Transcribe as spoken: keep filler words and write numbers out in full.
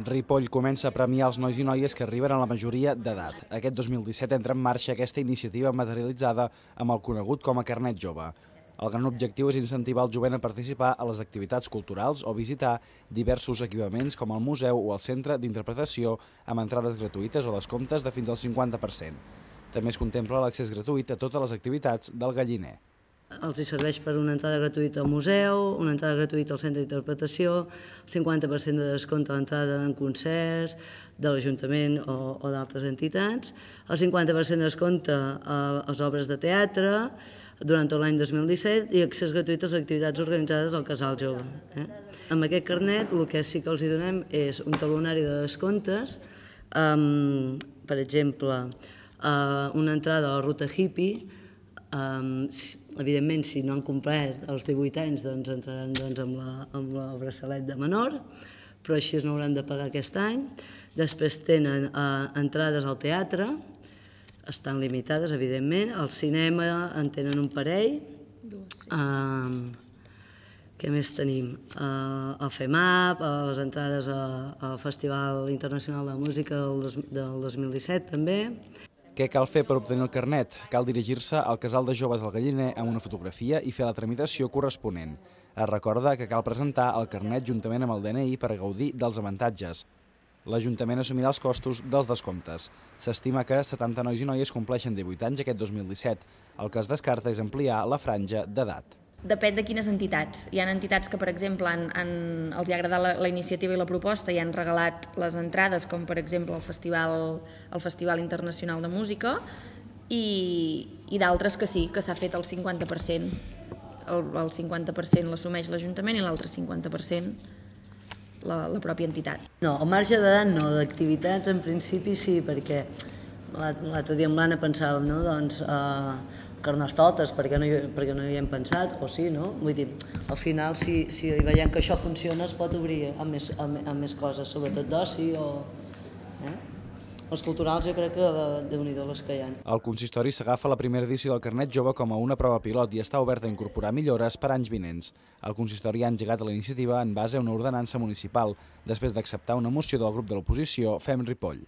Ripoll comença a premiar els nois i noies que arriben a la majoria d'edat. Aquest dos mil disset entra en marxa aquesta iniciativa materialitzada amb el conegut com a Carnet Jove. El gran objectiu és incentivar el jovent a participar a les activitats culturals o visitar diversos equipaments com el museu o el centre d'interpretació amb entrades gratuïtes o descomptes de fins al cinquanta per cent. També es contempla l'accés gratuït a totes les activitats del Galliner. Els hi serveix per una entrada gratuïta al museu, una entrada gratuïta al centre d'interpretació, el cinquanta per cent de descompte a l'entrada en concerts de l'Ajuntament o, o d'altres entitats, el cinquanta per cent de descompte a les obres de teatre durant tot l'any dos mil disset i accés gratuït a les activitats organitzades al Casal Jove. Eh? Amb aquest carnet el que sí que els hi donem és un talonari de descomptes, um, per exemple, uh, una entrada a la Ruta Hippie. Um, evidentment, si no han complert els divuit anys, doncs entraran doncs, amb, la, amb la braçalet de menor, però així no hauran de pagar aquest any. Després tenen uh, entrades al teatre, estan limitades, evidentment. Al cinema en tenen un parell. Uh, què més tenim? Uh, el FEMAP, uh, les entrades a, al Festival Internacional de Música del, dos, del dos mil disset, també. Què cal fer per obtenir el carnet? Cal dirigir-se al Casal de Joves del Galliner amb una fotografia i fer la tramitació corresponent. Es recorda que cal presentar el carnet juntament amb el D N I per gaudir dels avantatges. L'Ajuntament assumirà els costos dels descomptes. S'estima que setanta nois i noies compleixen divuit anys aquest dos mil disset. El que es descarta és ampliar la franja d'edat. Depèn de quines entitats. Hi ha entitats que, per exemple, han, han, els ha agradat la, la iniciativa i la proposta i han regalat les entrades, com per exemple el Festival, el Festival Internacional de Música, i, i d'altres que sí, que s'ha fet el cinquanta per cent. El, el cinquanta per cent l'assumeix l'Ajuntament i l'altre cinquanta per cent la, la pròpia entitat. No, al marge d'edat no, d'activitats en principi sí, perquè l'altre dia amb l'Anna pensàvem, no?, doncs, eh, Carnestoltes, perquè no, hi, perquè no hi hem pensat, o sí, no? Vull dir, al final, si, si veiem que això funciona, es pot obrir a més, a, a més coses, sobretot d'oci o... Eh? Els culturals jo crec que déu-n'hi-do les que hi ha. El consistori s'agafa la primera edició del Carnet Jove com a una prova pilot i està obert a incorporar millores per anys vinents. El consistori ha engegat la iniciativa en base a una ordenança municipal, després d'acceptar una moció del grup de l'oposició Fem Ripoll.